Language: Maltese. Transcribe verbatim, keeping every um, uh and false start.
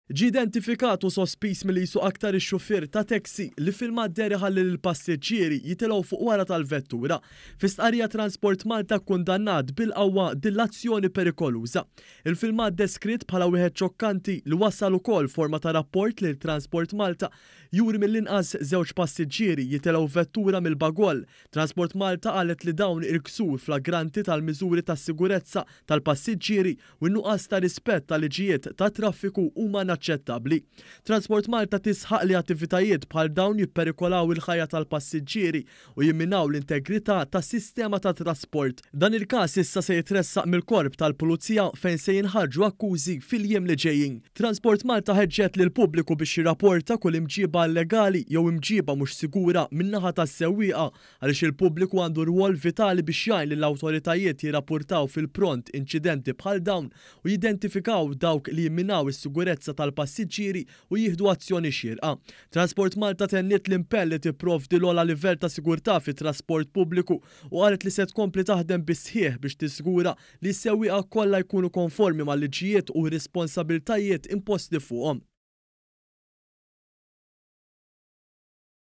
Ġie identifikat u sospiż milli jsuq aktar ix-xufier ta' taxi li filmat deher iħalli lill-passiġġieri jitilgħu fuq wara tal-vettura. Fi stqarrija, Transport Malta kkundannat bil-qawwa din l-azzjoni perikoluża. Il-filmat, deskritt bħala wieħed xokkanti li wasal ukoll forma ta' rapport lil Transport Malta, juri mill-inqas żewġ passiġġieri jitilgħu vettura mill-bagoll. Transport Malta qalet li dawn il-ksur flagranti tal-miżuri tas-sigurezza tal-passiġġieri u n-nuqqas ta' rispett tal-liġijiet ta' traffiku huma inaċċettabbli. Transport Malta tisħaq li attivitajiet bħal dawn jipperikolaw il-ħajja tal-passiġġieri u jimminaw l-integrità tas-sistema ta' trasport. Dan il-każ issa se jitressaq mill-korp tal-Pulizija, fejn se jinħarġu akkużi fil-jiem li ġejjin. Transport Malta ħeġġet lill-pubbliku biex jirrapporta kull imġiba illegali jew imġiba mhux sigura min-naħa tas-sewwieqa, għaliex il-pubbliku għandu rwol vitali biex jgħin lill-awtoritajiet jirrapportaw fil-pront inċidenti bħal dawn u jidentifikaw dawk li jimminaw is-sigurezza tal-passiġġieri u jieħdu azzjoni xierqa. Transport Malta tenniet l-impenn li tipprovdi l-ogħla livell ta' sigurtà fit-trasport pubbliku u qalet li se tkompli taħdem bis-sħiħ biex tiżgura li s-sewwieqa kollha jkunu konformi mal-liġijiet u responsabiltajiet imposti fuqhom.